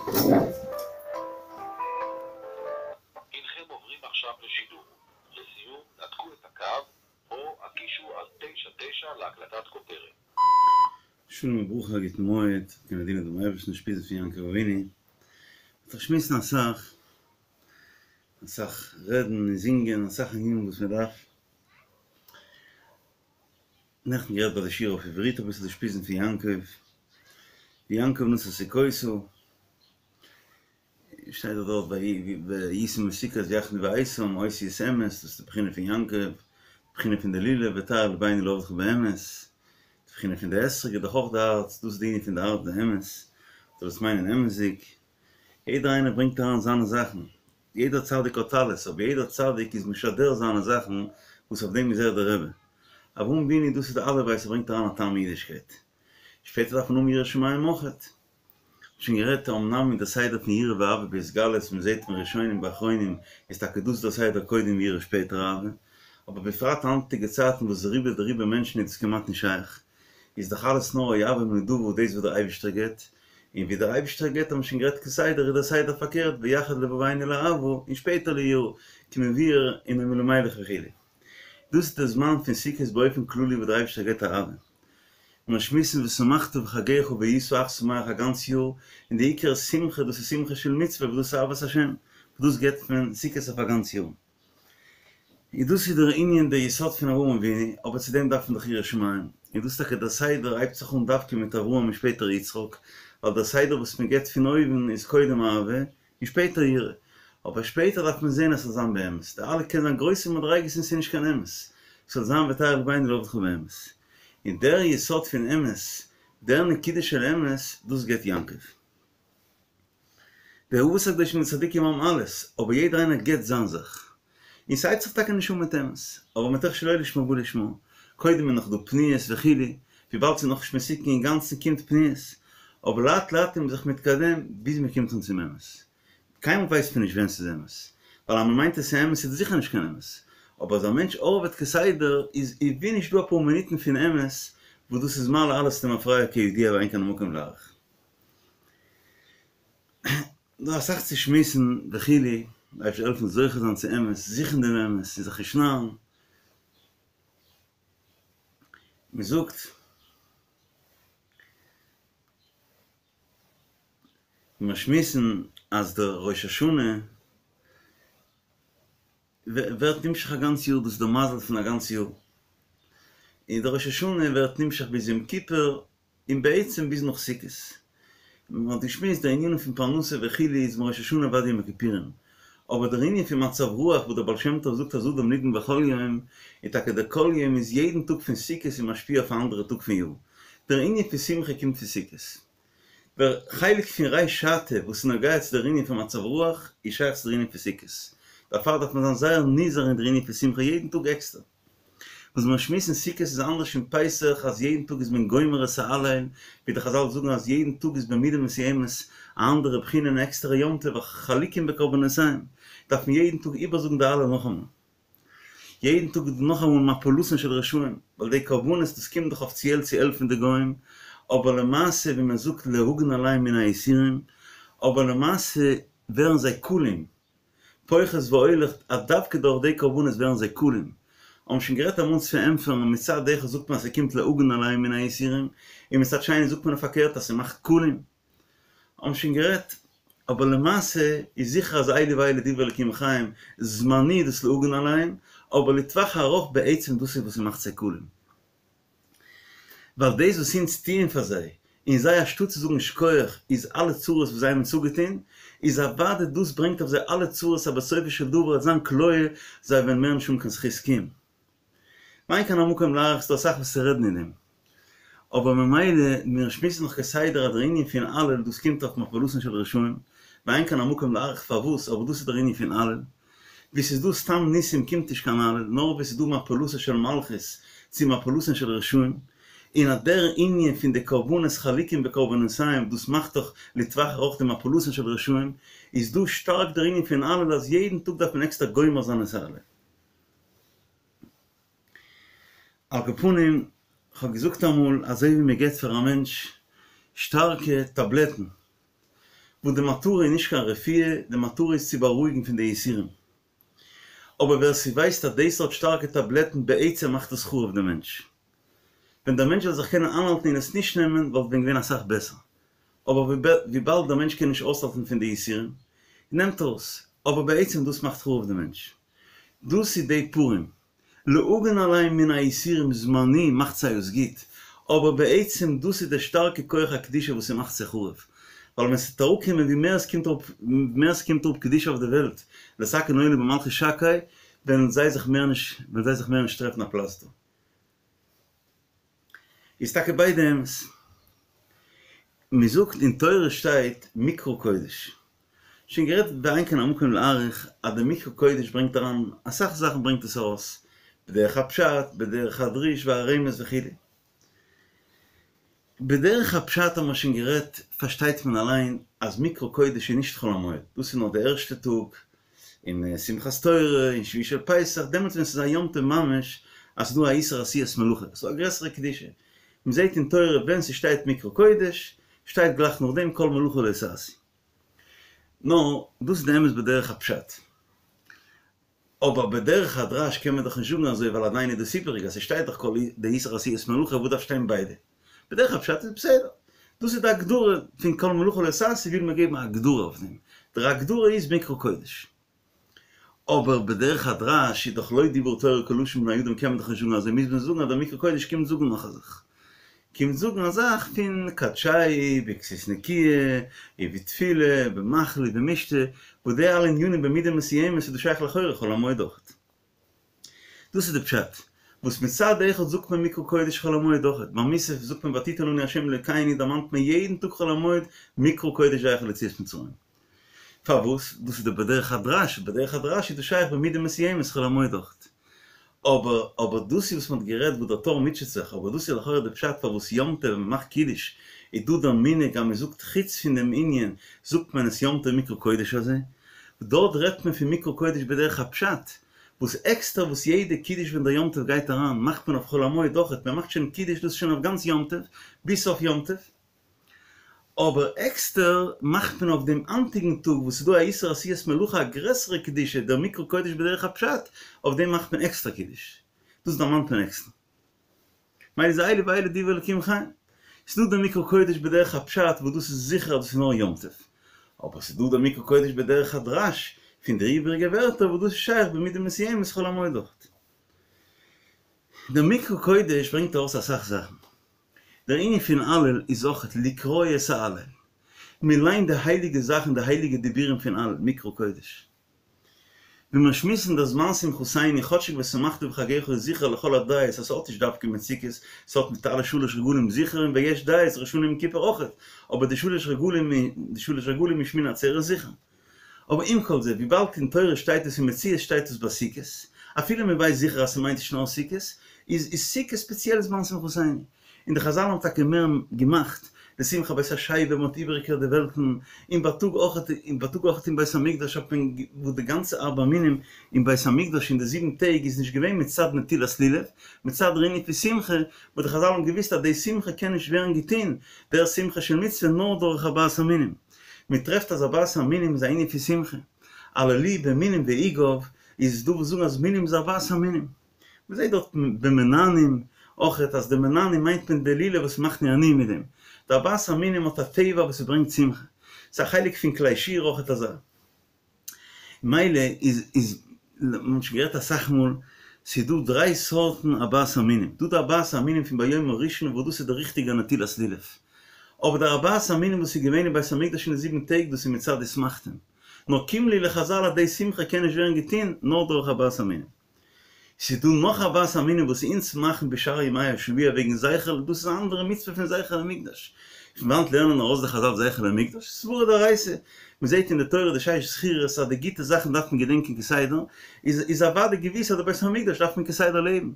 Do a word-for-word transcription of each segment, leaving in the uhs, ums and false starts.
הנכם עוברים עכשיו לשידור. לסיום, נתקו את הקו או הקישו על תשע תשע להקלטת כותרת. שלום וברכה, גוט מועד, קען דינען דעם אייבערשטן אושפיזין פון יעקב אבינו. מ'וועט שמועסן אסאך, אסאך רעדן און זינגען, אסאך ענינים וואס מען דארף. נעכטן גערעדט ביי די שיעור אויף עברית אביסל די אושפיזין פון יעקב, ויעקב נסע סוכותה, שטייט דאך דארט ויסעו מסוכות ויחנו באיתם, אותיות אמת, דאס איז די בחינה פון יעקב, די בחינה פון די לולב, וטהר לבנו לעבדך באמת, די בחינה פון די אתרוג איז דאך אויך די הארץ, דאס איז די ענין פון די הארץ די אמת, זאל עס מיינען אמת'דיג, יעדער איינער ברענגט אריין זיינע זאכן, יעדער צדיק האט אלעס, אבער יעדער צדיק איז משדר זיינע זאכן וואס אויף דעם איז ער דער רבי. אברהם אבינו דאס איז די אלף בית ער ברענגט אריין א טעם אין אידישקייט. שפעטער דארף מען האבן יראת שמים אויכעט. מ'האט שוין גערעדט אמנם אין די סדר פון יראה ואהבה בהתגלות מ'זעט פון ראשונים ואחרונים איז טאקע דאס דער סדר קודם יראה שפעטער אהבה, אבער בפרט היינטיגע צייטן וואס רובא דרובא מענטשן איז דאס כמעט נישט שייך, איז דאך אלעס נאר אוהבים נדבה דאס וואס דער אייבישטער גיבט, און ווי דער אייבישטער גיבט האבן מיר שוין גערעדט כסדר איז דער סדר פארקערט ויחד לבבנו לאהבה און שפעטער ליראה כמבואר אין נועם אלימלך וכו'. דאס איז דער זמן פון סוכות באופן כללי וואס דער אייבישטער גיבט אהבה. מיר שמועסן ושמחת בחגך והיית אך שמח א גאנץ יאר, און די עיקר שמחה דאס איז שמחה של מצוה וואס דאס איז אהבת השם, וואס דאס גיבט מען סוכות אויף א גאנץ יאר. און דאס איז דער ענין דער יסוד פון אברהם אבינו, אבער צו דעם דארף מען דאך יראת שמים, און דאס טאקע דער סדר הייבט זיך אן דווקא מיט אברהם און שפעטער יצחק, ווייל דער סדר וואס מען גיבט פון אויבן איז קודם אהבה און שפעטער יראה, אבער שפעטער דארף מען זען אז ס'זאל זיין באמת, די אלע קען זיין גרויסע מדריגות און ס'איז נישט קיין אמת, ס'זאל זיין וטהר לבנו לעבדך באמת, און דער יסוד פון אמת, דער נקודה של אמת, דאס גיבט יעקב. די אבות הקדושים און צדיקים האבן אלעס, אבער יעדער איינער גיבט זיין זאך. און ס'הייבט זיך טאקע נישט אן מיט אמת, אבער מתוך שלא לשמה בא לשמה, קודם איז נאך דא פניות וכו', וויבאלד ס'איז נאכנישט מתוקן אינגאנצן קומט פניות, אבער לאט לאט איז מען זיך מתקדם ביז מ'קומט אן צום אמת. קיינמאל ווייסט מען נישט ווען ס'איז אמת, ווייל אז מ'מיינט עס איז אמת איז דאס זיכער נישט קיין אמת, אבער אז א מענטש ארבעט כסדר איז ווי נישט דא אפאר מינוטן פון אמת וואס דאס איז מעלה אלעס למפרע כידוע ואין כאן המקום להאריך. דא אסאך צו שמועסן וכו', דער אייבערשטער זאל העלפן זוכה זיין צו אמת, זוכן דעם אמת און זיך נישט נארן. מען זאגט מיר שמועסן אז דער ראש השנה ווערט נמשך א גאנץ יאר, דאס איז דער מזל פון א גאנץ יאר, און דער ראש השנה ווערט נמשך ביז יום כיפור, און בעצם ביז נאך סוכות. מען האט געשמועסט די ענינים פון פרנסה וכו' איז מראש השנה ועד יום הכיפורים, אבער דער ענין פון מצב רוח וואס דער בעל שם טוב זאגט אז אדם נידון בכל יום, און טאקע דער כל יום איז יעדן טאג פון סוכות איז משפיע אויף א אנדערע טאג פון יאר. דער ענין פון שמחה קומט פון סוכות. דער חלק פון ריש שעתא וואס איז נוגע צו דער ענין פון מצב רוח איז שייך צו דער ענין פון סוכות. דערפאר דארף מען זיין זייער נזהר אין דער ענין פון שמחה יעדן טאג עקסטער. וואס מיר שמועסן סוכות איז אנדערש פון פסח אז יעדן טאג איז מען גומר את ההלל, ווי די חזל זאגן אז יעדן טאג איז במידה מסוימת א אנדערע בחינה און עקסטערע יום טוב חלוקים בקרבנותיהם, דארף מען יעדן טאג איבערזאגן די הלל נאכאמאל. יעדן טאג איז דא נאכאמאל מפלתן של רשעים, ווייל די קרבנות דאס קומט דאך אפיציעל צו העלפן די גוים, אבער למעשה ווי מען זאגט להגן עליהם מן היסורים, אבער למעשה ווערן זיי כלים, פוחת והולך אז דווקא דורך די קרבנות ווערן זיי כלים. האבן שוין גערעדט אמאל צו פארענטפערן, מצד אחד זאגט מען אז ס'קומט להגן עליהם מן היסורים, און מצד שני זאגט מען פארקערט אז ס'מאכט כלים. האבן שוין גערעדט, אבער למעשה איז זיכער אז אלו ואלו דברי אלקים חיים, זמני דאס להגן עליהם, אבער לטווח הארוך בעצם דאס איז וואס ס'מאכט זיי כלים. ווייל דאס וואס אונז טוען פאר זיי, און זיי אנשטאט צו זאגן שכוח איז אלע צרות וואס זיי האבן אונז אפגעטון, איז אוודאי דאס ברענגט אויף זיי אלע צרות אז בסופו של דבר וועט זיין כליה, זיי וועלן מער נישט האבן קיין זכות קיום. ואין כאן המקום להאריך ס'דא אסאך וואס צו רעדן אין דעם. אבער ממילא מיר שמועסן נאך כסדר אז דער ענין פון הלל דאס קומט אויף מפלתן של רשעים, ואין כאן המקום להאריך פארוואס, אבער דאס איז דער ענין פון הלל. ווי ס'איז דא סתם ניסים קומט נישט קיין הלל, נאר ווי ס'איז דא מפלתן של מלכות צו מפלתן של רשעים, און אט דער ענין פון די קרבנות חלוקים בקרבנותיהם דאס מאכט דאך לטווח ארוך די מפלתן של רשעים, איז דא שטארק דער ענין פון הלל אז יעדן טאג דארף מען עקסטער גומר זיין את ההלל. על כל פנים, כ'האב געזאגט אמאל אזוי ווי מ'געט פאר א מענטש שטארקע טאבלעטן, וואס די מטרה איז נישט קיין רפואה, די מטרה איז צו בארואיגן פון די יסורים. אבער ווער ס'ווייסט אז די סארט שטארקע טאבלעטן בעצם מאכט עס חרוב די מענטש. ווען דער מענטש זאל זיך קענען איינהאלטן און עס נישט נעמען וואלט ווען געווען אסאך בעסער. אבער וויבאלד דער מענטש קען נישט אויסהאלטן פון די יסורים, נעמט ער עס. אבער בעצם דאס מאכט חרוב די מענטש. דאס איז די פורים. להגן עליהם מן היסורים זמני מאכט זיי עס גוט, אבער בעצם דאס איז די שטארקע כח הקדושה וואס ס'מאכט זיי חרוב. ווייל ווען ס'וועט אראפקומען ווי מער עס קומט אראפ מער ס'קומט אראפ קדושה אויף די וועלט, לתקן עולם במלכות שקי, וועלן זיי זיך מער נישט וועלן זיי זיך מער נישט טרעפן א פלאץ דא. איז טאקע ביידע אמת. מ'זאגט אין תורה שטייט מקרא קודש. שוין גערעדט ואין כאן המקום להאריך אז די מקרא קודש ברענגט אריין אסאך זאכן ברענגט עס ארויס בדרך הפשט בדרך הדרוש והרמז וכו'. בדרך הפשט האט מען שוין גערעדט פארשטייט מען אליין אז מקרא קודש איז נישט חול המועד דאס איז נאר די ערשטע טאג אין שמחת תורה אין שביעי של פסח דעמאלטס ווען ס'איז א יום טוב ממש אז ס'איז דא א איסור עשיית מלאכה ס'איז דא א גרעסערע קדושה מ'זעט אין תורה ווען ס'שטייט מקרא קודש שטייט גלייך נאכדעם כל מלאכה לא תעשו. נו, דאס איז די אמת בדרך הפשט. אבער בדרך הדרש קען מען דאך נישט זאגן אזוי ווייל עדיין איז דאס איבעריג אז ס'שטייט דאך כל די איסור עשיית מלאכה וואס דארף שטיין ביידע? בדרך הפשט איז בסדר. דאס איז די הגדרה פון כל מלאכה לא תעשו וויל מען געבן א הגדרה אויף דעם. דער הגדרה איז מקרא קודש. אבער בדרך הדרש איז דאך לא דיברה תורה כלשון בני אדם קען מען דאך נישט זאגן אזוי מוז מען זאגן אז דער מקרא קודש קומט זאגן נאך א זאך. קומט זאגן א זאך פון קדשהו בכסות נקיה ובתפילה במאכל ובמשתה וואס די אלע ענינים במידה מסוימת איז דאס שייך לכאורה חול המועד אויכעט. דאס איז די פשט וואס מצד אחד זאגט מען מקרא קודש חול המועד אויכעט, ביי מוסף זאגט מען ותתן לנו ה' אלוקינו דערמאנט מען יעדן טאג חול המועד מקרא קודש זכר ליציאת מצרים. פארוואס? דאס איז די בדרך הדרש, בדרך הדרש איז דאס שייך במידה מסוימת חול המועד אויכעט. אבער אבער דאס איז וואס מ'האט גערעדט וואס דער טור מוטשעט זיך, אבער דאס איז לכאורה די פשט פארוואס יום טוב ווען מ'מאכט קידוש איז דא דער מנהג אז מ'זאגט חוץ פון דעם ענין זאגט מען עס יום טוב מקרא קודש הזה, דארט רעדט מען פון מקרא קודש בדרך הפשט, וואס עקסטער וואס יעדע קידוש ווען דער יום טוב גייט אריין מאכט מען אויף חול המועד אויכעט, מ'מאכט שוין קידוש דאס איז שוין אויף גאנץ יום טוב ביז סוף יום טוב. אבער עקסטער מאכט מען אויף דעם היינטיגן טאג וואס איז דא א איסור עשיית מלאכה א גרעסערע קדושה דער מקרא קודש בדרך הפשט, אויף דעם מאכט מען עקסטער קידוש, דאס דערמאנט מען עקסטער. מילא איז אלו ואלו דברי אלקים חיים. ס'איז דא דער מקרא קודש בדרך הפשט וואס דאס איז זיכער אז דאס איז נאר יום טוב. אבער ס'איז דא דער מקרא קודש בדרך הדרש פון די איבעריגע ווערטער וואס דאס איז שייך במידה מסוימת חול המועד אויכעט. דער מקרא קודש ברענגט ארויס אסאך זאכן. דער ענין פון הלל איז אויכעט לקרוא את ההלל. מען ליינט די הייליגע זאכן, די הייליגע דיבורים פון הלל, מקרא קודש. ווען מיר שמועסן דער זמן שמחתינו, כאטשיג ושמחת בחגך איז זיכער לכל הדעות אז ס'האט נישט דווקא מיט סוכות, ס'האט מיט אלע שלש רגלים זיכער און ויש דעות ראש השנה יום כיפור אויכעט, אבער די שלש רגלים די שלש רגלים און שמיני עצרת זיכער. אבער עם כל זה, וויבאלד אין תורה שטייט עס אין מציאות שטייט עס ביי סוכות, אפילו מען ווייסט זיכער אז ס'מיינט נישט נאר סוכות, איז איז סוכות ספעציעל זמן שמחתינו. און די חזל האבן טאקע מער געמאכט די שמחה בית השואבה, מען האט איבערגעקערט די וועלטן, און בייטאג אויך, און בייטאג אויך אין בית המקדש האט מען, וואס די גאנצע ארבע מינים אין בית המקדש אין די זיבן טעג איז נישט געווען מצד נטילת לולב, מצד דער ענין פון שמחה, וואס די חזל האבן געוואוסט אז די שמחה קען נישט ווערן געטון, דער שמחה של מצוה נאר דורך ארבעת המינים. מען טרעפט אז ארבעת המינים איז א ענין פון שמחה. הללוהו במינים בעוגב, איז דא וואס זאגן אז מינים איז ארבעת המינים. מען זעט דארט במנענעים אויכעט אז די מנענעים מיינט מען די לולב וואס מאכט נענועים מיט דעם. די ארבעת המינים האט א טבע וואס ס'ברענגט שמחה. ס'איז א חלק פון כלי שיר אויכעט אזא. מילא איז איז מ'האט שוין גערעדט אסאך מאל, ס'איז דא דריי סארטן ארבעת המינים, דא די ארבעת המינים פון ביום הראשון וואס דאס איז די ריכטיגע נטילת לולב, אבער די ארבעת המינים וואס איז געווען אין בית המקדש אין די זיבן טעג דאס איז מצד ושמחתם, נאר קים ליה לחזל אז די שמחה קען נישט ווערן געטון נאר דורך ארבעת המינים. ס'איז דא נאך ארבעת המינים וואס אונז מאכן בשאר ימי השבוע וועגן זכר, דאס איז א אנדערע מצוה פון זכר למקדש. פון וואנט לערנען ארויס די חזל זכר למקדש? סברא דאורייתא. מ'זעט אין די תורה די שש זכירות אז די גוטע זאכן דארף מען געדענקען כסדר, איז איז אוודאי געוויס אז די בית המקדש דארף מען כסדר לעבן.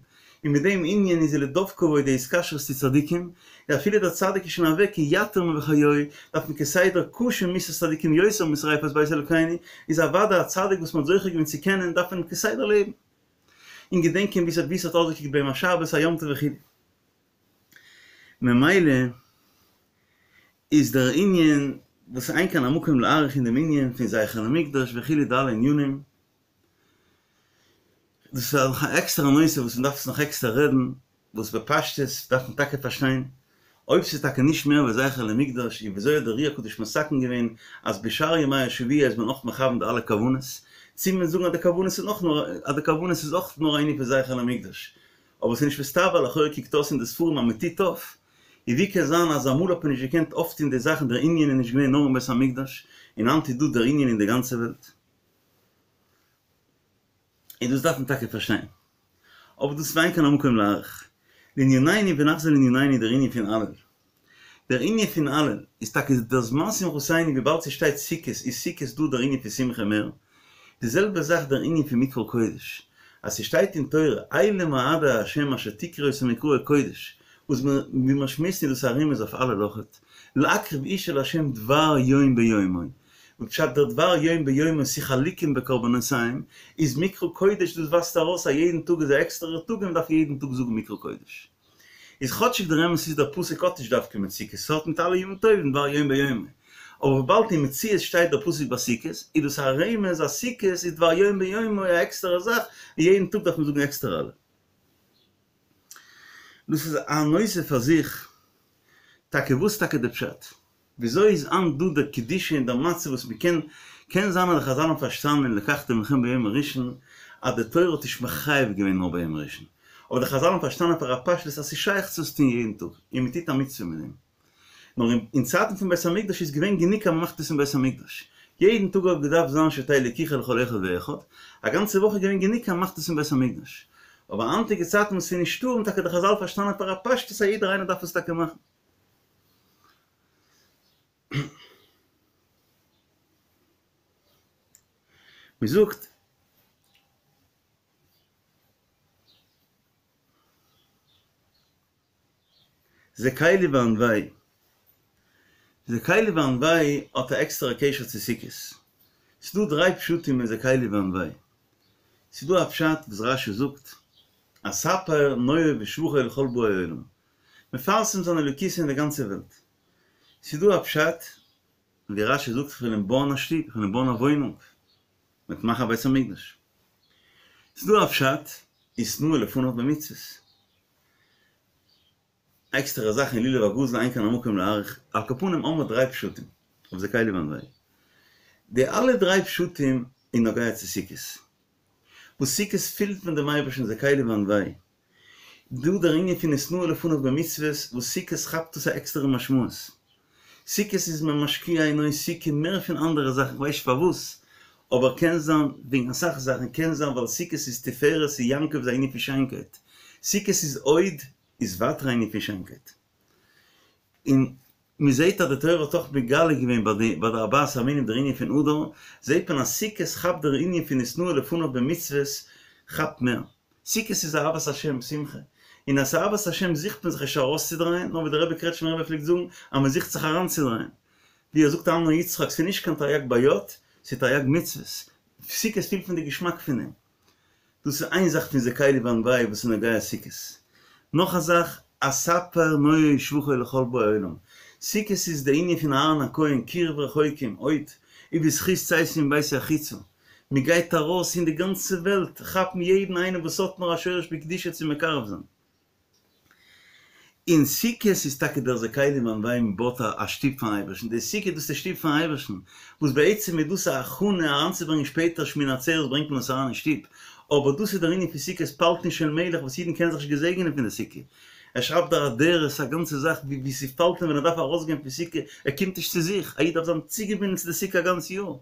און מיט דעם ענין איז ולדבקה בו די התקשרות צו צדיקים, און אפילו דער צדיק איז שוין אוועק יתיר מבחיוהי, דארף מען כסדר קשה מיתת צדיקים יותר משריפת בית אלוקינו, איז אוודאי א צדיק וואס מען האט זוכה געווען צו קענען דארף מען אים כסדר לעבן און געדענקען ווי ס'האט ווי ס'האט אויסגעקוקט ביי אים א שבת א יום טוב וכו'. ממילא איז דער ענין וואס אין כאן המקום להאריך אין דעם ענין פון זכר למקדש וכו' די אלע ענינים. דאס איז נאך א עקסטערע נושא וואס מען דארף עס נאך עקסטער רעדן, וואס בפשטות דארף מען טאקע פארשטיין, אויב ס'איז טאקע נישט מער ווי זכר למקדש, איז וויאזוי האט דער אר"י הקדוש מתקן געווען אז בשאר ימי השבוע איז מען אויך מכוון די אלע כוונות, צו מען זאגן אז די כוונות איז אויך נאר אז די כוונות איז אויך נאר א ענין פון זכר למקדש, אבער ס'איז נישט מסתבר, לכאורה קוקט אויס אין די ספרים אז מ'טוט אויף, און ווי קען זיין אז אמאל האט מען נישט געקענט אויפטון די זאכן דער ענין איז נישט געווען נאר אין בית המקדש, און היינט איז דא דער ענין אין די גאנצע וועלט. און דאס דארף מען טאקע פארשטיין. אבער דאס איז ואין כאן המקום להאריך. לענינינו ונחזור לענינינו דער ענין פון הלל. דער ענין פון הלל איז טאקע דער זמן שמחתינו וויבאלד ס'שטייט סוכות איז סוכות דא דער ענין פון שמחה מער. די זעלבע זאך דער ענין פון מקרא קודש. אז ס'שטייט אין תורה אלה מועדי ה' אשר תקראו אותם מקראי קודש וואס ווי מ'שמועסט איז דאס א רמז אויף הלל אויכעט. להקריב אשה לה' דבר יום ביומו. וואס פשט דער דבר יום ביומו ס'איז חלוקים בקרבנותיהם, איז מקרא קודש דאס ווייזט ארויס אז יעדן טאג איז א עקסטערער טאג און מ'דארף יעדן טאג זאגן מקרא קודש. איז כאטשיג דער אמת איז דער פסוק האט נישט דווקא מיט סוכות, ס'האט מיט אלע ימים טובים דבר יום ביומו, אבער וויבאלד אין מציאות שטייט דער פסוק ביי סוכות, איז דאס א רמז אז סוכות איז דבר יום ביומו א עקסטערע זאך און יעדן טאג דארף מען זאגן עקסטער הלל. דאס איז א נושא פאר זיך, טאקע וואס טאקע די פשט? וויאזוי איז היינט דא דער קדושה און דער מצב וואס מ'קען, קען זיין אז די חזל האבן פארשטאנען אין ולקחתם לכם ביום הראשון אז די תורה האט נישט מחייב געווען נאר ביום הראשון, אבער די חזל האבן פארשטאנען פאר א פשטות אז ס'איז שייך צו עס טון יעדן טאג און מ'טוט א מצוה מיט דעם. נאר אין צייטן פון בית המקדש איז געווען גענוג אז מ'מאכט עס אין בית המקדש. יעדן טאג האט געדארפט זיין שתהא לקיחה לכל אחד ואחד, א גאנצע וואך איז געווען גענוג אז מ'מאכט עס אין בית המקדש. אבער היינטיגע צייטן וואס ס'איז נישטא האבן טאקע די חזל פארשטאנען פאר א פשטות אז יעדער איינער דארף עס טאקע מאכן. מען זאגט זה קלי ואנוהו, זה קלי ואנוהו האט א עקסטערע קשר צו סוכות, ס'דא דריי פשטים אין זה קלי ואנוהו, ס'דא א פשט וואס רש"י זאגט אספר נאוה בשבחו לכל באי עולם, מפרסם זיין אלוקות אין די גאנצע וועלט. ס'איז דא א פשט ווי רש"י זאגט איך וויל אים בויען א שטוב, איך וויל אים בויען א וואוינונג, מ'וועט מאכן א בית המקדש. ס'איז דא א פשט התנאה לפניו במצוות. עקסטערע זאכן אין לולב הגזול אין כאן המקום להאריך, על כל פנים האמער דריי פשטים אויף זה קלי ואנוהו. די אלע דריי פשטים איז נוגע צו סוכות. וואס סוכות פילט מען דעם אייבערשטן זה קלי ואנוהו. דא דער ענין פון התנאה לפניו במצוות וואס סוכות כאפט דאס א עקסטערע משמעות. סוכות איז מען משקיע אין סוכה מער פון אנדערע זאכן כ'ווייס נישט פארוואס אבער קען זיין וועגן אסאך זאכן קען זיין ווייל סוכות איז תפארת און יעקב איז א ענין פון שיינקייט סוכות איז הוד איז ווייטער א ענין פון שיינקייט און מען זעט אז די תורה האט אויך מגלה געווען ביי די ביי די ארבעת המינים דער ענין פון הדר, זעט מען אז סוכות כאפט דער ענין פון התנאה לפניו במצוות כאפט מער. סוכות איז אהבת השם, שמחה, און אז ס'אהבת השם זוכט מען זיך נישט ארויסצודרייען, נאר ווי דער רבי קרעטשמער רבי פלעגט זאגן אז מען זוכט זיך אריינצודרייען. ווי ער זאגט אמר יצחק ס'איז נישט קיין תרי"ג בעיות, ס'איז תרי"ג מצוות. סוכות פילט מען די געשמאק פון דעם. דאס איז איין זאך פון זה קלי ואנוהו וואס איז נוגע סוכות. נאך א זאך, אספר נאה שבחו לכל באי עולם. סוכות איז די ענין פון אהרן הכהן, קירוב רחוקים, הוד, ובזכות צאתי מביתי החוצה. מען גייט ארויס אין די גאנצע וועלט כאפן יעדן איינעם וואס האט נאר א שורש בקדושה צו מקרב זיין. און סוכות איז טאקע דער זה קלי ואנוהו מען בויט א שטוב פארן אייבערשטן, די סוכה דאס איז די שטוב פארן אייבערשטן, וואס בעצם איז דאס א הכנה אריינצוברענגען שפעטער שמיני עצרת ברענגט מען עס אריין אין שטוב, אבער דאס איז דער ענין פון סוכות פלטין של מלך וואס אידן קענען זיך נישט געזעגענען פון די סוכה, ער שרייבט דער אדרת א גאנצע זאך ווי ס'פאלט אים ווען ער דארף ארויסגיין פון סוכה, ער קומט נישט צו זיך, א איד דארף זיין צוגעבינדן צו די סוכה א גאנץ יאר.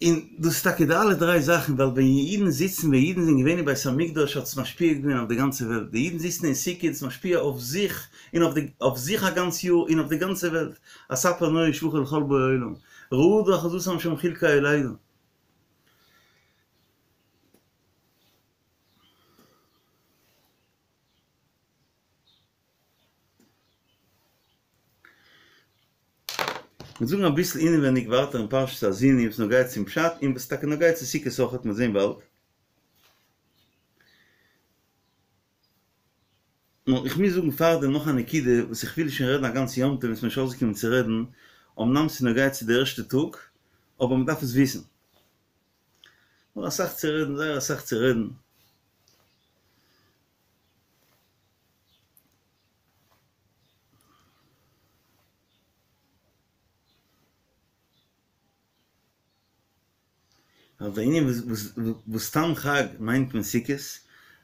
און דאס איז טאקע די אלע דריי זאכן, ווייל ווען אידן זיצן, ווען אידן זענען געווען אין בית המקדש האט עס משפיע געווען אויף די גאנצע וועלט, די אידן זיצן אין סוכה איז עס משפיע אויף זיך, און אויף די, אויף זיך א גאנץ יאר, און אויף די גאנצע וועלט, אספר נאה שבחו לכל באי עולם, רעדה אחוזתם שם חלקי היולדה. מיר זאגן אביסל אינעווייניג ווייטער אין פרשת האזיני וואס נוגע צום פשט און וואס טאקע נוגע צו סוכות אויכעט מ'וועט זען באלד. נאר איך מוז זאגן פארדעם נאך א נקודה וואס איך וויל שוין רעדן א גאנץ יום טוב און ס'מיר נישט אויסגעקומען צו רעדן, אמנם ס'איז נוגע צו די ערשטע טאג, אבער מ'דארף עס וויסן. נאך אסאך צו רעדן, זייער אסאך צו רעדן. ווייל דער ענין וואס סתם חג מיינט מען סוכות,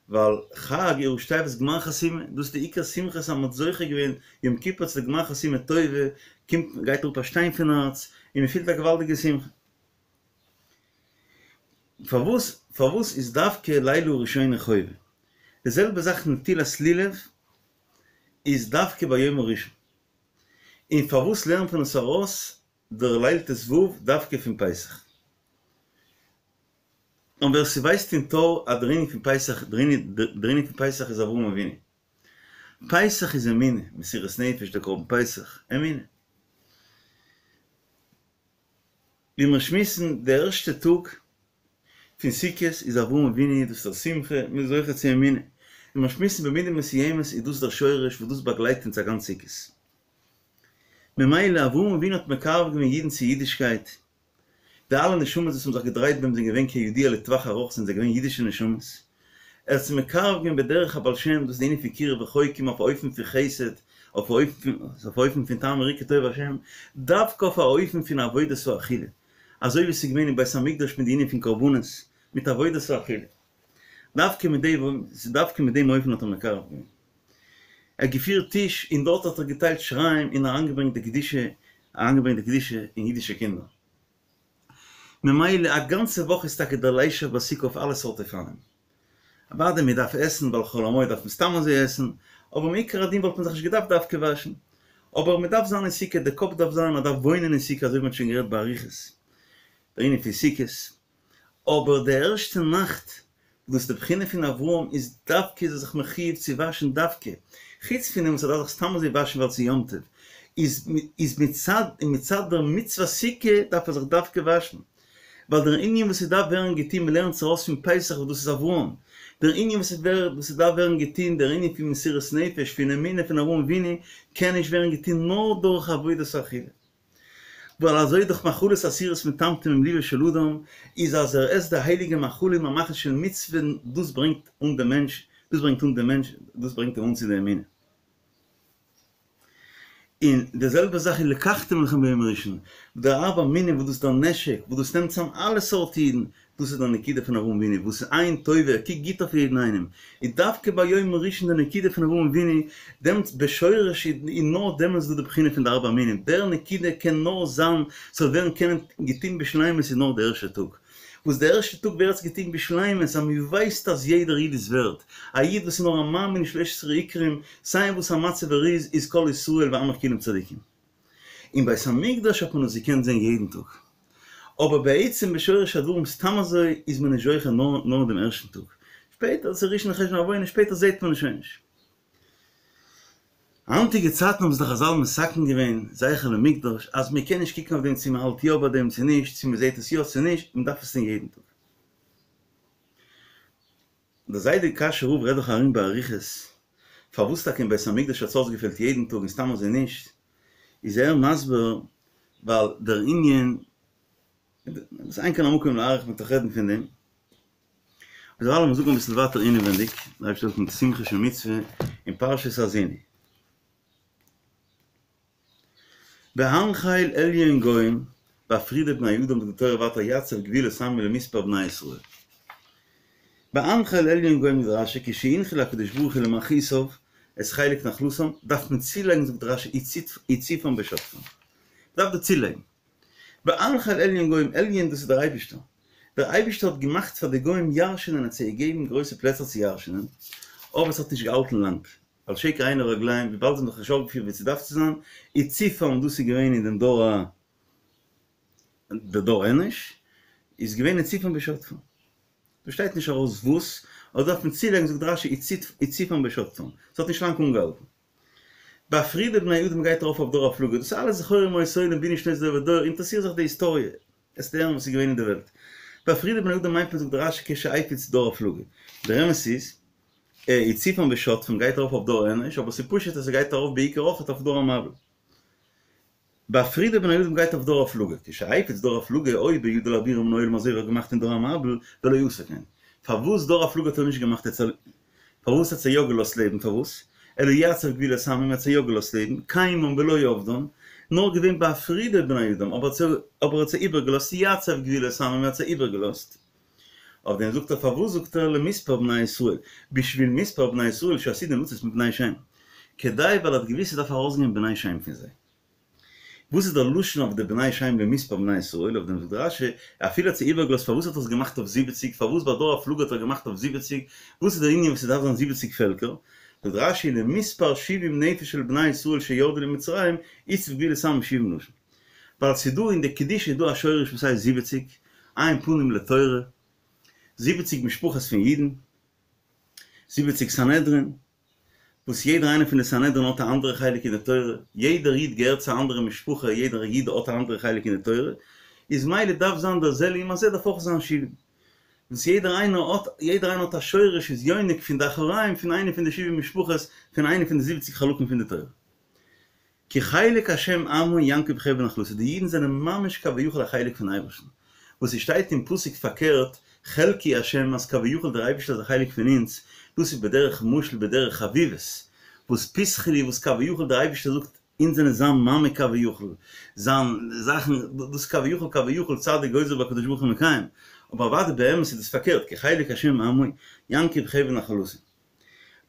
ווייל חג איז ראשי תיבות גמר חתימה, דאס איז די עיקר שמחה אז מען האט זוכה געווען יום כיפור צו די גמר חתימה טובה, קומט גייט אראפ א שטיין פון הארץ, און מען פילט א געוואלדיגע שמחה. פארוואס פארוואס איז דווקא לילה ראשונה חובה? די זעלבע זאך נטילת לולב איז דווקא ביום הראשון. און פארוואס לערנט מען עס ארויס דער ליל ט"ו דווקא פון פסח? און ווער ס'ווייסט אין טור אז דער ענין פון פסח, דער ענין פון פסח איז אברהם אבינו. פסח איז אמונה, מסירת נפש, דער קרבן פסח, אמונה. ווי מיר שמועסן, די ערשטע טאג פון סוכות איז אברהם אבינו, דאס איז דער שמחה, מ'איז זוכה צו אמונה. ווי מיר שמועסן במידה מסוימת איז דאס דער שורש וואס דאס באגלייט אונז א גאנץ סוכות. ממילא אברהם אבינו האט מקרב געווען אידן צו אידישקייט, די אלע נשמות וואס האבן זיך געדרייט ביי אים זענען געווען כידוע לטווח ארוך זענען זיי געווען אידישע נשמות, ער האט זיי מקרב געווען בדרך הבעל שם, דאס איז די ענין פון קירוב רחוקים אויף א אופן פון חסד, אויף א אופן פון טעמו וראו כי טוב השם, דווקא אויף א אופן פון עבודת האכילה, אזוי ווי עס איז געווען אין בית המקדש מיט די ענין פון קרבנות, מיט עבודת האכילה. דווקא מיט דעם, דווקא מיט דעם אופן האט ער מקרב געווען. ער האט געפירט טיש און דארט האט ער געטיילט שיריים און אריינגעברענגט די קדושה, אריינגעברענגט די קדושה אין אידישע קינדער. ממילא א גאנצע וואך איז טאקע דער לישב בסוכה אויף אלע סארט אופנים. אוודאי מען דארף עסן ווייל חול המועד דארף מען סתם אזוי עסן, אבער מעיקר הדין וואלט מען זיך נישט געדארפט דווקא וואשן. אבער מען דארף זיין אין סוכה, די קאפ דארף זיין, מען דארף וואוינען אין סוכה אזוי ווי מען האט שוין גערעדט באריכות דער ענין פון סוכות. אבער די ערשטע נאכט וואס די בחינה פון אברהם איז דווקא איז ער זיך מחיוב צו וואשן דווקא, חוץ פון דעם וואס ער דארף זיך סתם אזוי וואשן ווייל ס'איז יום טוב, איז איז מצד און מצד דער מצוות סוכה דארף ער זיך דווקא וואשן, ווייל דער ענין וואס ס'דארף ווערן געטון מ'לערנט עס ארויס פון פסח וואס דאס איז אברהם, דער ענין וואס וואס ס'דארף ווערן געטון דער ענין פון מסירות נפש פון אמונה פון אברהם אבינו קען נישט ווערן געטון נאר דורך עבודת האכילה. ווייל אזוי דאך מאכלות אסורות מטמטמים ליבו של אדם, איז אז ער עסט די הייליגע מאכלים א מאכל של מצוה דאס ברענגט אן דעם מענטש, דאס ברענגט אן דעם מענטש, דאס ברענגט אים אן צו די אמונה. און די זעלבע זאך איז ולקחתם לכם ביום הראשון, דער ארבע מינים וואס דאס איז דער נשק, וואס דאס נעמט צאם אלע סארט אידן, דאס איז דער נקודה פון אברהם אבינו, וואס איז עין טובה, ער קוקט גוט אויף יעדן איינעם, איז דווקא ביום הראשון די נקודה פון אברהם אבינו, דעמאלטס בשורש איז נאר דעמאלטס דא די בחינה פון די ארבע מינים, דער נקודה קען נאר זיין, ס'זאל ווערן קענען געטון בשלימות איז נאר די ערשטע טאג, וואס די ערשטע טאג ווערט עס געטון בשלימות, אז מ'ווייסט אז יעדער איד איז ווערד, א איד וואס איז נאר א מאמין אין שלש עשרה עיקרים, סיי אין וואס א מצב ער איז, איז כל ישראל ועמך כולם צדיקים. אין בית המקדש האט מען עס געקענט זען יעדן טאג. אבער בעצם בשורש הדברים סתם אזוי איז מען נישט זוכה נאר נאר דעם ערשטן טאג. שפעטער, ס'איז ראשון לחשון עוונה, שפעטער זעט מען עס שוין נישט. היינטיגע צייטן האבן זיך די חזל מתקן געווען זכר למקדש אז מען קען נישט קוקן אויף דעם צו מען האלט יא ביי דעם צו נישט, צו מען זעט עס יא צו נישט, מען דארף עס טון יעדן טאג. דער זיידע קאשוי רב רעדט דאך ארום באריכות פארוואס טאקע אין בית המקדש האט עס אויסגעפעלט יעדן טאג און סתם אזוי נישט, איז ער מסביר ווייל דער ענין, דאס אין כאן המקום להאריך מ'וועט דאך רעדן פון דעם, אבער דערווייל לאמיר זאגן אביסל ווייטער אינעווענדיג, דער אייבערשטער זאל העלפן מיט שמחה של מצוה אין פרשת האזינו. והנחל עליון גוים בהפריד את בני אדם זאגט די תורה ווייטער יצב גבולות עמים למספר בני ישראל. והנחל עליון גוים זאגט רשי כשהנחיל הקדוש ברוך הוא למלכותיו את חלק נחלתם דארף מען צולייגן זאגט רשי הציפם בשטפם מ'דארף דא צולייגן והנחל עליון גוים עליון דאס איז דער אייבישטער דער אייבישטער האט געמאכט פאר די גוים ירש'נען האט זיי געגעבן גרויסע פלעצער צו ירש'נען אבער עס האט נישט געהאלטן לאנג ועל שקר עיני רגליהם, וויבאלד זיי האבן זיך נישט אויפגעפירט ווי ס'דארף צו זיין, הציפם, דאס איז געווען אין דעם דור ה, דער דור אנוש, איז געווען הציפם בשטפם. דא שטייט נישט ארויס וואס, אבער דארף מען צולייגן זאגט רשי הציפם בשטפם, ס'האט נישט לאנג אנגעהאלטן. בהפרידו בני אדם גייט ארויף אויף דור הפלגה, דאס איז אלעס זכור ימות עולם בינו שנות דור ודור, אינטערעסיר זיך די היסטאריע, עסט הערן וואס איז געווען אין די וועלט. בהפרידו בני אדם מיינט מען זאגט רשי כשהפיץ דור הפלגה. דער אמת איז, הציפם ושטפם גייט ארויף אויף דור אנוש, אבער ס'איז פשוט אז ס'גייט ארויף בעיקר אויכעט אויף דור המבול. בהפרידו בין האדם גייט אויף דור הפלגה, כשהפיץ דור הפלגה היה בידו להעבירם מן העולם אזוי ווי ער האט געמאכט אין דור המבול, ולא עשה כן. פארוואס דור הפלגה האט ער נישט געמאכט אצל פארוואס האט זיי יא געלאזט לעבן פארוואס אלא יצב גבולות עמים האט זיי יא געלאזט לעבן קיימם ולא אבדן נאר געווען בהפרידו בין האדם אבער ער האט זיי איבערגעלאזט יצב גבולות עמים האט זיי איבערגעלאזט אויף דעם זאגט ער פארוואס זאגט ער למספר בני ישראל בשביל מספר בני ישראל שעתידין לצאת מבני שם כדי ווייל ער האט געוויסט ס'דארף ארויסגיין בני שם פון זיי. וואס איז דער לשון אויף די בני שם למספר בני ישראל, אויף דעם זאגט רש"י, אפילו האט זיי איבערגעלאזט פארוואס האט ער עס געמאכט אויף זיבעציג, פארוואס ביי דור הפלגה האט ער געמאכט אויף זיבעציג, וואס איז דער ענין וואס ס'דארף זיין זיבעציג פעלקער, זאגט רש"י למספר שבעים נפש של בני ישראל שירדו למצרים, הציב גבולות עמים שבעים לשון. ווייל ס'איז דא אין די קדושה איז דא א שורש וואס הייסט זיבעציג, עין פנים לתורה, זיבעציג משפחות פון אידן, זיבעציג סנהדרין, וואס יעדער איינער פון די סנהדרין האט א אנדערע חלק אין די תורה, יעדער איד געהערט צו א אנדערע משפחה, יעדער איד האט א אנדערע חלק אין די תורה, איז מילא דארף זיין דער זה לעומת זה דארף אויך זיין שבעים, וואס יעדער איינער האט, יעדער איינער האט א שורש איז יונק פון די אחוריים פון איינע פון די שבעים משפחות פון איינע פון די זיבעציג חלקים פון די תורה. כי חלק השם עמו יעקב חבל נחלתו, די אידן זענען ממש כביכול א חלק פון אייבערשטן, וואס עס שטייט אין פסוק פארקערט חלקי השם אז כביכול דער אייבערשטער איז א חלק פון אונז, דאס איז בדרך משל בדרך חביבות, וואס פתחי לי וואס כביכול דער אייבערשטער זאגט אונז זענען זיין מאמע כביכול, זיין זאכן, דאס כביכול כביכול צדיק גוזר והקדוש ברוך הוא מקיים, אבער אוודאי באמת איז דאס פארקערט כי חלק השם עמו יעקב חבל נחלתו.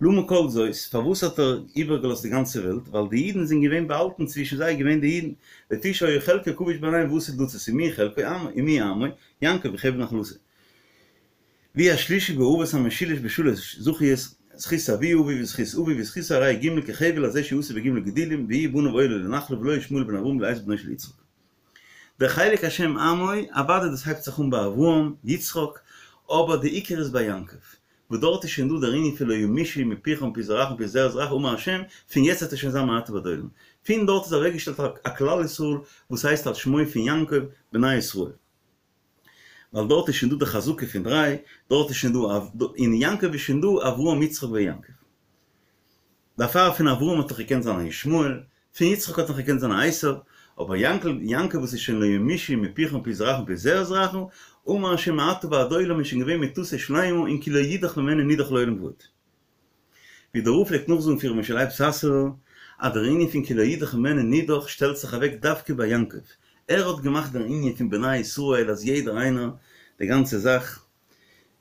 למה כל זאת, פארוואס האט ער איבערגעלאזט די גאנצע וועלט, ווייל די אידן זענען געווען באהאלטן צווישן זיי געווען די אידן, לפי שהיה חלקו כבוש ביניהם ועתיד לצאת ומי חלקו עמו ומי עמו, יעקב חבל נחלתו. והוא השלישי באבות המשולש בשלש זכיות, זכות אבי אבי וזכות אבי וזכות הרי ג' כחבל הזה שהוא עשוי בג' גדילים ויהיו בניו עולה לנחלה ולא ישמעאל בן אברהם אלא עשו בנו של יצחק. דער חלק השם עמו, אוודאי דאס הייבט זיך אן ביי אברהם, יצחק, אבער די עיקר איז ביי יעקב, וואס דארט איז שוין דא דער ענין פון לא ימושו מפיך ומפי זרעך ומפי זרע זרעך אמר השם, פון יעצט וועט עס שוין זיין מעתה ועד עולם. פון דארט איז אוועקגעשטעלט א כלל ישראל וואס הייסט על שמו פון יעקב בני ישראל. ווייל דארט איז שוין דא די חזקה פון דריי, דארט איז שוין דא, אין יעקב איז שוין דא אברהם יצחק ויעקב. דערפאר פון אברהם האט נאך געקענט זיין א ישמעאל, פון יצחק האט נאך געקענט זיין א עשו, אבער יענקל, יעקב וואס איז שוין לא ימושו מפיך ומפי זרעך ומפי זרע זרעך, אמר השם מעתה ועד עולם איז שוין געווען מיטתו שלימה און כי לא ידח ממנו נידח לעולם ועד. ווי דער רב פלעגט נאכזאגן פון ר' משה לייב סאסובער, אז דער ענין פון כי לא ידח ממנו נידח שטעלט זיך אוועק דווקא ביי יעקב, ער האט געמאכט דער ענין פון בני ישראל אז יעדער איינער, די גאנצע זאך,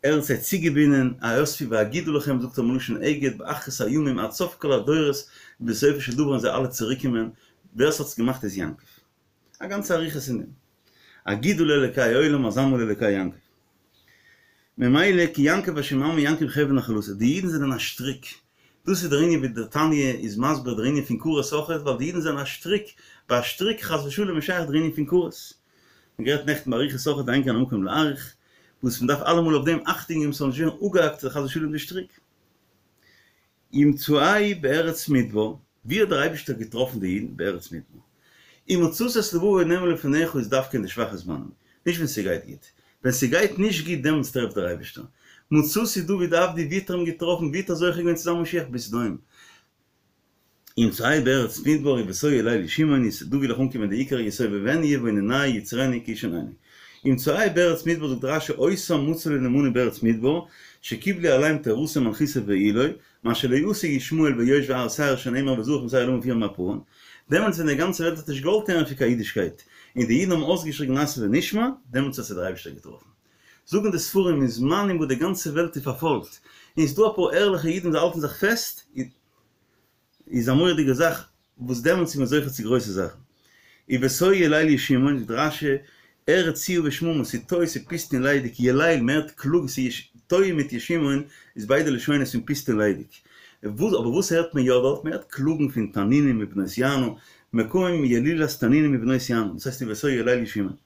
ער האט זיי צוגעבינדן, האספו ואגידה לכם, זאגט ער מלשון אגד, באחרית הימים עד סוף כל הדורות, בסופו של דבר וועלן זיי אלע צוריקקומען, ווער ס'האט עס געמאכט איז יעקב. א גאנצע אריכות אין דעם. אגידה לאלקי עולם אזמרה לאלקי יעקב. ממילא כי יעקב השם עמו יעקב חבל נחלתו, די אידן זענען א שטריק, דאס איז דער ענין ווי דער תניא איז מסביר דער ענין פון כרת אויכעט, ווייל די אידן זענען א שטריק, ביי א שטריק חס ושלום איז שייך דער ענין פון כרת. מ'האט גערעדט נעכטן באריכות אויכעט אין כאן המקום להאריך, וואס מ'דארף אלעמאל אויף דעם אכטונג געבן ס'זאל נישט ווערן אפגעהאקט חס ושלום די שטריק. ימצאהו בארץ מדבר, ווי האט דער אייבישטער געטראפן די אידן? בארץ מדבר. ומצאת את לבבו נאמן לפניך איז דווקא אין די שוואכע זמנים, נישט ווען ס'גייט גוט. ווען ס'גייט נישט גוט דעמאלטס טרעפט דער אייבישטער. מצאתי דוד עבדי ווי האט ער אים געטראפן? ווי האט ער זוכה געווען צו זיין משיח? בסדום. ימצאהו בארץ מדבר ובתוהו יליל ישימוני איז דא וויל איך אנקומען די עיקר יסובבנו יבוננהו יצרנו כאיש עינינו. ימצאהו בארץ מדבר זאגט רש"י אותם מצא לו נאמנים בארץ מדבר שקיבלו עליהם תורתו ומלכותו בעילוי מה שלא עשו ישמעאל ויושבי הר שעיר שנאמר וזרח משעיר למה ופיהם מהפרן דעמאלטס ווען די גאנצע וועלט האט נישט געוואלט הערן פון קיין אידישקייט און די אידן האבן אויסגעשריגן נעשה ונשמע דעמאלטס האט זיי דער אייבערשטער געטראפן זאגן די ספרים אין זמנים וואס די גאנצע וועלט איז פארפאלגט און ס'דא אפאר ערליכע אידן וואס האלטן זיך פעסט איז א מורא'דיגע זאך וואס דעמאלטס איז מען זוכה צו גרויסע זאכן. ובתוהו יליל ישימון, זאגט רש"י, ארץ ציה ושממה, ס'איז תוהו, ס'איז פוסט און ליידיג, יליל, מ'הערט קלאגן, ס'איז תוהו מיט ישימון איז ביידע לשונות פון פוסט און ליידיג. אבער וואס הערט מען יא דארט? מען הערט קלאגן פון תנינים מבנות יענה, מקום ילילת תנינים מבנות יענה, דאס הייסט ובתוהו יליל ישימון.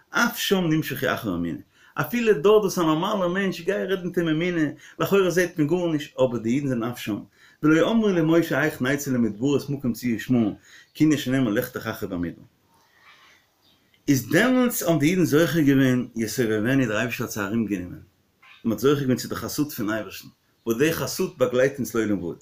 אף שם נמשכו אחר האמונה. אפילו דארט וואס א נארמאלער מענטש גיי רעד מיט אים אמונה, לכאורה זעט מען גארנישט, אבער די אידן זענען אף שם. ולא אמרו למשה איך נצא למדברות מקום ציה ושממה, כענין שנאמר לכתך אחרי במדבר. איז דעמאלטס האבן די אידן זוכה געווען יסובבנו דער אייבערשטער האט זיי ארום גענומען, מען האט זוכה געווען צו די חסד פון אייבערשטן, וואס די חסות באגלייט אונז לעולם ועד.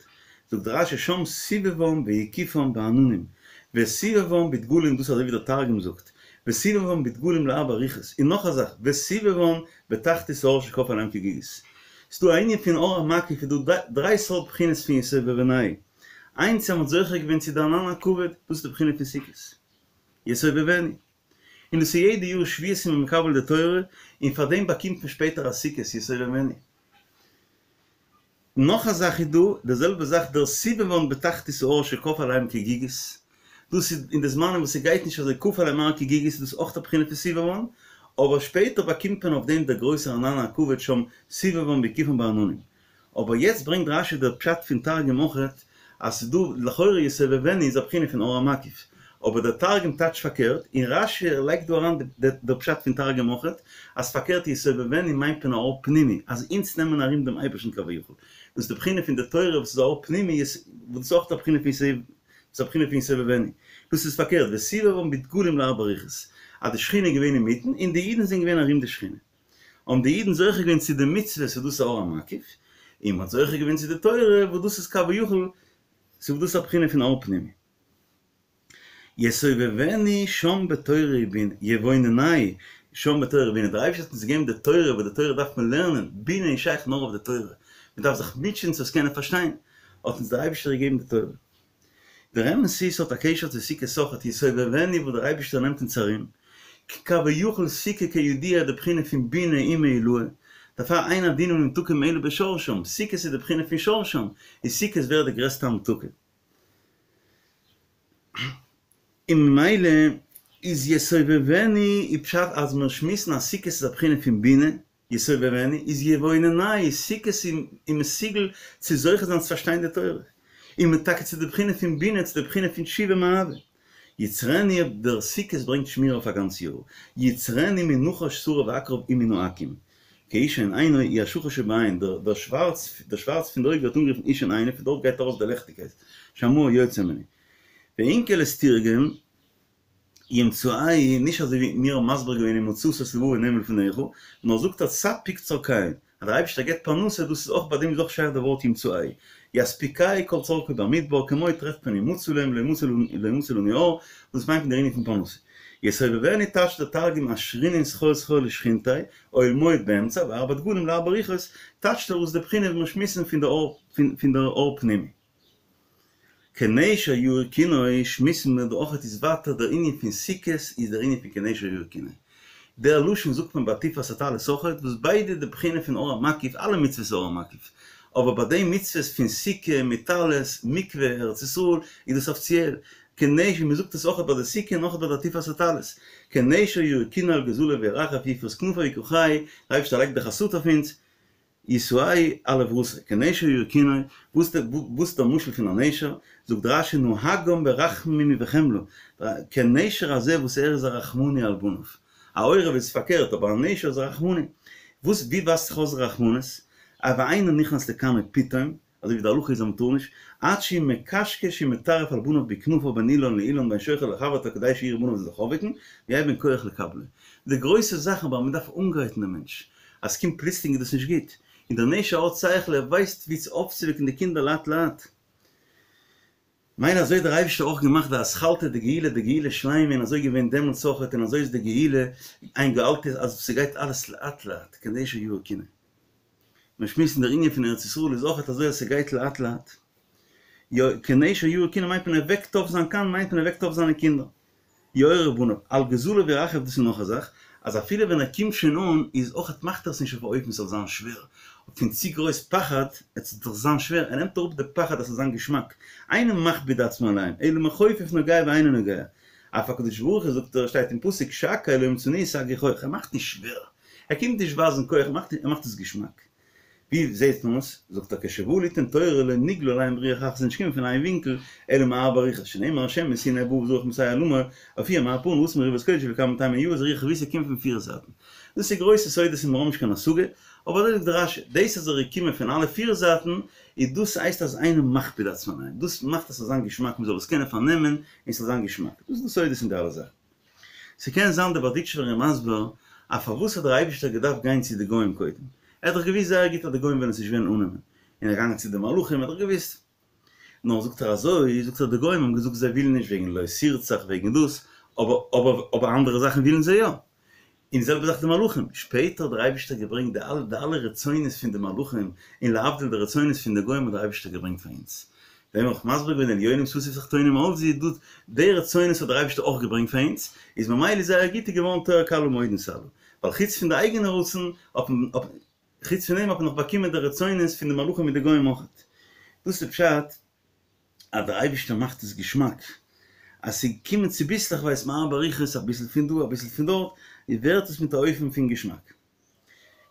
זאגט רשי שם סובבם והקיפם בעננים, וסובבם בדגלים דאס אזוי ווי דער תרגום זאגט, וסובבם בדגלים לארבע רוחות, און נאך א זאך, וסובבם בתחתית ההר שכפה עליהם כגיגית. ס'דא א ענין פון אור המקיף איז דא דריי סארט בחינות פון יסובבנו, איינס אז מ'האט זוכה געווען צו די ענן הכבוד, דאס איז די בחינה פון סוכות, יסובבנו, און דאס איז יעדע יאר שבועות איז מען מקבל די תורה, און פאר דעם באקומט מען שפעטער א סוכות יסובבנו. נאך א זאך איז דא, די זעלבע זאך דער סובבם בתחתית ההר שכפה עליהם כגיגית, דאס איז אין די זמנים וואס ס'גייט נישט אזוי כפה עליהם הר כגיגית איז דאס אויך א בחינה פון סובבם, אבער שפעטער באקומט מען אויף דעם דער גרויסער ענן הכבוד שם סובבם והקיפם בעננים. אבער יעצט ברענגט רשי דער פשט פון תרגום אויכעט אז ס'איז דא לכאורה יסובבנו איז א בחינה פון אור המקיף, אבער דער תרגום טייטשט פארקערט, און רשי לייגט דא אריין דער פשט פון תרגום אויכעט, אז פארקערט יסובבנו מיינט מען א אור פנימי, אז אונז נעמען ארום דעם אייבערשטן כביכול, דאס איז די בחינה פון די תורה וואס איז א אור פנימי, וואס דאס איז אויך א בחינה פון איז א בחינה פון יסובבנו, דאס איז פארקערט, וסובבם בדגלים לארבע רוחות, אז די שכינה איז געווען אינמיטן און די אידן זענען געווען ארום די שכינה. האבן די אידן זוכה געווען צו די מצוות וואס דאס איז אור המקיף, און מ'האט זוכה געווען צו די תורה וואס דאס איז כביכול, ס'איז דאס א בחינה פון אור פנימי. יסובבנו שם בתורה ובינה, יבוננהו שם בתורה ובינה, דער אייבערשטער האט אונז געגעבן די תורה, וואס די תורה דארף מען לערנען, בינה איז שייך נאר אויף די תורה, מען דארף זיך מוטשען צו עס קענען פארשטיין, האט אונז דער אייבערשטער געגעבן די תורה. דער אמת איז ס'האט א קשר צו סוכות אויכעט יסובבנו וואס דער אייבערשטער נעמט אונז ארום, כביכול סוכה כידוע די בחינה פון בינה אימא עילאה, דערפאר אין הדינים נמתקים אלא בשרשם, סוכות איז די בחינה פון שרשם, און סוכות ווערט די גרעסטע המתקה. און ממילא איז יסובבנו איז פשט אז מיר שמועסן אז סוכות איז א בחינה פון בינה, יסובבנו איז יבוננהו, סוכות איז מסוגל צו זוכה זיין צו פארשטיין די תורה, און מען טאקע צו די בחינה פון בינה, צו די בחינה פון תשובה מאהבה. יצרנו, דער סוכות ברענגט שמירה אויף א גאנץ יאר, יצרנו מנחש שרף ועקרב ומן העכו"ם, כאישון עינו הוא השחור שבעין, דער שווארץ דער שווארץ פון די אויג ווערט אנגערופן אישון עינו, פון דארט גייט ארויס די לעכטיגקייט, שהמאור יוצא ממנו. ואונקלוס תרגם. ימצאהו, נישט אזוי ווי מיר האבן מסביר געווען ומצאת את לבבי נאמן לפניך, נאר זאגט אז ספק צרכיהון, אז דער אייבערשטער געבט פרנסה, דאס איז אויך ביי דעם איז אויך שייך די ווארט ימצאהו. יספיקהו כל צרכו במדבר, כמו טרעפט מען ומצא להם לא ימצא לנו אור, דאס מיינט מען דער ענין פון פרנסה. יסובבנו טייטשט דער תרגום אשרינן סחור סחור לשכינתיה, אוהל מועד באמצע, וארבע דגלים לארבע רוחות, טייטשט ער אויס די בחינה ווי מיר שמועסן פון דער אור פנימי. כנשר יאיר קינו שמועסן מיר דא אויכעט איז ווייטער דער ענין פון סוכות איז דער ענין פון כנשר יאיר קינו. דער לשון זאגט מען ביי עטיפת הטלית אויכעט וואס ביידע די בחינה פון אור המקיף אלע מצוות איז אור המקיף אבער ביי די מצוות פון סוכה מיט טלית מקווה ארץ ישראל איז דאס אפיציעל כנשר מען זאגט עס אויכעט ביי די סוכה און אויכעט ביי די עטיפת הטלית כנשר יאיר קינו על גוזליו ירחף יפרוס כנפיו יקחהו דער אייבערשטער לייגט די חסות אויף אונז ישאהו על אברתו, כנשר יאיר קינו, וואס איז דער משל פון א נשר? זאגט רש"י נוהגם ברחמים ובחמלה, כנשר הזה וואס ער איז א רחמני על בניו, א עורב איז פארקערט אבער א נשר איז א רחמני, וואס ווי ווייזט זיך אויס רחמנות? ואינו נכנס לקנו פתאום, אזוי ווי די הלכה איז אז מ'טאר נישט, עד שהוא מקשקש ומטרף על בניו בכנפיו בין אילן לאילן בין שוכב לחברתו כדי שיראו בניו זיך אויפוועקן, ויהא בהם כח לקבלו. די גרויסע זאכן אבער מ'דארף אנגרייטן דעם מענטש, אז ס'קומט פלוצלינג איז דאס נישט גוט, און דער נשר האט שכל ער ווייסט ווי צו אויפצווועקן די קינדער לאט לאט. מילא אזוי האט דער אייבערשטער אויך געמאכט די אתחלתא דגאולה די גאולה שלימה און אזוי געווען דעמאלטס אויכעט און אזוי איז די גאולה אין גאלתי אז ס'גייט אלעס לאט לאט כנשר יאיר קינו. מיר שמועסן דער ענין פון ארץ ישראל איז אויכעט אזוי אז ס'גייט לאט לאט. יא כנשר יאיר קינו מיינט מען ער וועקט אויף זיין קן מיינט מען ער וועקט אויף זיינע קינדער. יעורר בניו, על גוזליו ירחף דאס איז נאך א זאך, אז אפילו ווען ער קומט שוין אן איז אויכעט מאכט ער עס נישט אויף א אופן ס'זאל זיין שווער, פון צו גרויס פחד, עס זאל דאך זיין שווער, ער נעמט אראפ די פחד אז ס'זאל זיין געשמאק, אינו מכביד עצמו עליהם, אלא מכופף נוגע ואינו נוגע, אף הקדוש ברוך הוא זאגט ער שטייט אין פסוק שקי לא מצאוני סגי כח, ער מאכט נישט שווער, ער קומט נישט ווייזן כח, ער מאכט עס געשמאק. ווי זעהט מען עס? זאגט ער כשבאו ליתן תורה לא נגלה עליהם רוח אחת ס'איז נישט געקומען פון איין ווינקל אלא מארבע רוחות שנאמר השם מסיני בא וזרח משעיר לאמר הופיע מהר פארן רצון מריבת קודש וכמה טעמים יאיר איז רוח ווי ס'קומט פון פיר זייטן דאס איז גרויסע סודות און מיר האבן נישט קיין השגה אבער אזוי זאגט רש"י דאס אז ער איז געקומען פון אלע פיר זייטן איז דאס הייסט אז אינו מכביד עצמו עליהם דאס מאכט אז ס'זאל זיין געשמאק מ'זאל עס קענען פארנעמען און ס'זאל זיין געשמאק דאס איז די סודות אין די אלע זאכן. ס'קען זיין דער בארדיטשובער איז מסביר אז פארוואס האט דער אייבישטער געדארפט גיין צו די גוים קודם? ער האט דאך געוואוסט זייער גוט אז די גוים וועלן עס נישט וועלן אננעמען. און ער איז געגאנגען צו די מלאכים, ער האט דאך געוואוסט. נאר זאגט ער אזוי, זאגט ער די גוים האבן געזאגט זיי ווילן נישט וועגן לא תרצח וועגן דאס, אבער אבער אבער אנדערע זאכן ווילן זיי יא. און די זעלבע זאך די מלאכים, שפעטער האט דער אייבישטער געברענגט די אלע די אלע רצונות פון די מלאכים, און להבדיל די רצונות פון די גוים האט דער אייבישטער געברענגט פאר אונז. דעם האב איך מסביר געווען עליונים ששו ותחתונים עלזו דא די רצונות האט דער אייבישטער אויך געברענגט פאר אונז, איז ממילא איז זייער גוט איז געווארן תואר כלה מאוד נתעלה, ווייל חוץ פון די אייגענע רצון האט מען חוץ פון דעם האט מען נאך באקומען די רצונות פון די מלאכים מיט די גוים אויך. דאס איז פשט אז דער אייבישטער מאכט עס געשמאק, אז ס'קומען צוביסלעכווייז מארבע רוחות אביסל פון דא אביסל פון דארט, ווערט עס מיט א אופן פון געשמאק.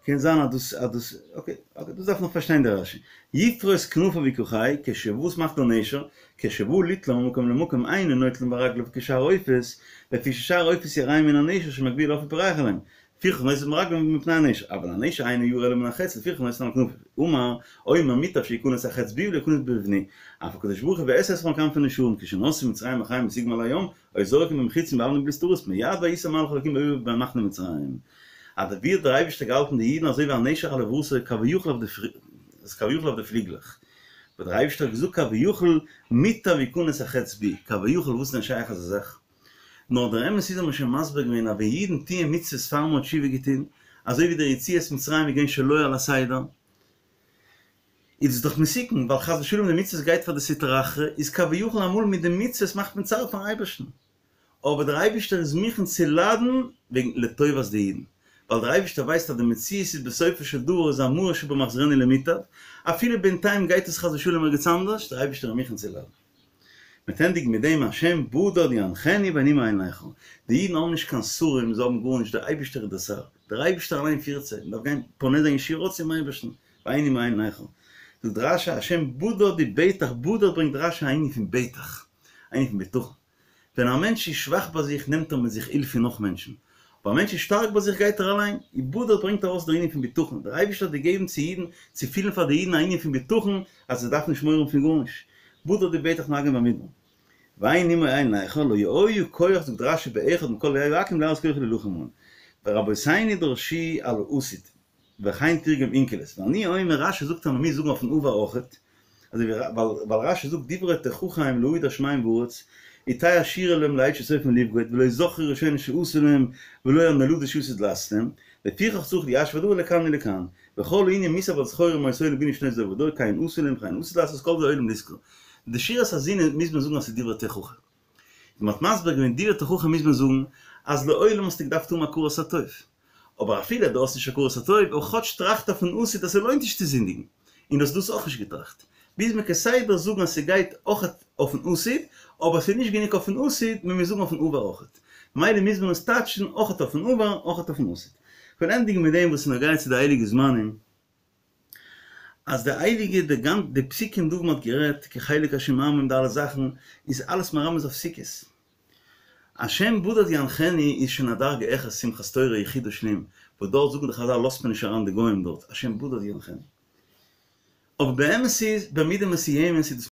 קען זיין אז דאס אז דאס אקעי אקעי דאס דארף נאך פארשטיין דער רשי. יפרוס כנפיו ויקחהו כש וואס מאכט דער נשר? כשבא ליטלם ממקום למקום אינו נוטלן ברגליו כשאר העופות, לפי ששאר העופות יראים מן הנשר שמגביה לעוף ופורח עליהם, לפיכך נוטלן ברגליו מפני הנשר, אבל הנשר אינו ירא אלא מן החץ לפיכך נוטלן על כנפיו. אמר, אומר מוטב שיכנס החץ בי ולא יכנס בבני. אף הקדוש ברוך הוא ואשא אתכם על כנפי נשרים כשנסעו מצרים אחריהם בסיג מעל הים, היו זורקים בהם חצים ואבנים בליסטראות מיד ויסע מלאך אלקים במחנה מצרים. אז ווי האט דער אייבערשטער געהאלטן די אידן אזוי ווי א נשר על עברתו כביכול אויף די כביכול אויף די פליגלעך. וואס דער אייבערשטער האט געזאגט כביכול מוטב יכנס החץ בי, כביכול וואס איז דען שייך אזא זאך? נאר דער אמת איז האט מען שוין מסביר געווען אז ווען אידן טוען מצוות פאר מען האט תשובה געטון, אזוי ווי דער יציאת מצרים איז געווען שלא על הסדר, איז עס דאך מסוכן, ווייל חס ושלום די מצוות גייט פאר די סטרא אחרא, איז כביכול אמאל מיט די מצוות מאכט מען צער פארן אייבערשטן. אבער דער אייבערשטער איז מוכן צו ליידן וועגן לטובת די אידן, ווייל דער אייבערשטער ווייסט אז די מציאות איז בסופו של דבר איז המרה שבה מחזירנו למוטב, אפילו בינתיים גייט עס חס ושלום ערגעץ אנדערש, דער אייבערשטער איז מוכן צו ליידן. מ'וועט ענדיגן מיט דעם השם בדד ינחנו ואין עמו אל נכר, די אידן האבן נישט קיין שרים, זיי האבן גארנישט, דער אייבערשטער איז דער שר, דער אייבערשטער אליין פירט זיי, מען דארף גיין פונה זיין ישירות צום אייבערשטן, ואין עמו אל נכר. זאגט רשי השם בדד ובטח, בדד ברענגט רשי א ענין פון בטח, א ענין פון בטחון. ווען א מענטש איז שוואך ביי זיך נעמט ער מיט זיך הילף פון נאך מענטשן, אבער א מענטש איז שטארק ביי זיך גייט ער אליין, ובדד ברענגט ארויס דער ענין פון בטחון, דער אייבערשטער האט געגעבן צו אידן צו פילן פאר די אידן א ענין פון בטחון אז זיי דארפן נישט מורא האבן פון גארנישט, בדד ובטח נגום במדבר. ואין עמו אל נכר לא היה כח זאגט רשי באחד מכל איי העכו"ם להראות כוחו להילחם בם ורבותינו דרשו על העתיד וכן תרגם אונקלוס ואני אומר רשי זאגט אז מ'מוז זאגן אויפן עבר אויכעט אזוי ווי ווייל רשי זאגט דברי תוכחה הם להעיד השמים וארץ ותהא השירה להם לעת שסופם לפקוד ולא זכרו ראשונים שעשו להם ולא הנולדות שעתיד לעשות להם לפיכך צריך ליישב הדבר לכאן ולכאן וכל הענין מוסב על זכור מה עשו לבינו שנות דור ודור כן עשו להם וכן עתיד לעשות כל זה עולם לזכור די שירת האזינו מוז מען זאגן אז ס'איז דברי תוכחה. ווי מ'האט מסביר געווען דברי תוכחה מוז מען זאגן אז לעולם האסטו געדארפט האבן הכרת הטוב. אבער אפילו דו האסט נישט הכרת הטוב, אבער כאטש טראכט אויפן עתיד אז ס'לוינט נישט צו זינדיגן. און דו האסט דאס אויך נישט געטראכט. מוז מען כסדר זאגן אז ס'גייט אויך אויפן עתיד, אבער ס'איז נישט גענוג אויפן עתיד, מען מוז זאגן אויפן עבר אויכעט. ממילא מוז מען עס טייטשן אויכעט אויפן עבר, אויכעט אויפן עתיד. כ'וועל ענדיגן מיט דעם וואס איז נוגע צו די הייליגע זמנים. אז די הייליגע די גאנ די פסוקים דא וואו מ'האט גערעדט כי חלק השם עמו די אלע זאכן איז אלעס מרמז אויף סוכות. השם בדד ינחנו איז שוין א דרגה העכער שמחת תורה יחידו שלים וואס דארט זאגן די חזל לאזט מען נישט אריין די גוים דארט השם בדד ינחנו. אבער באמת איז במידה מסוימת איז דאס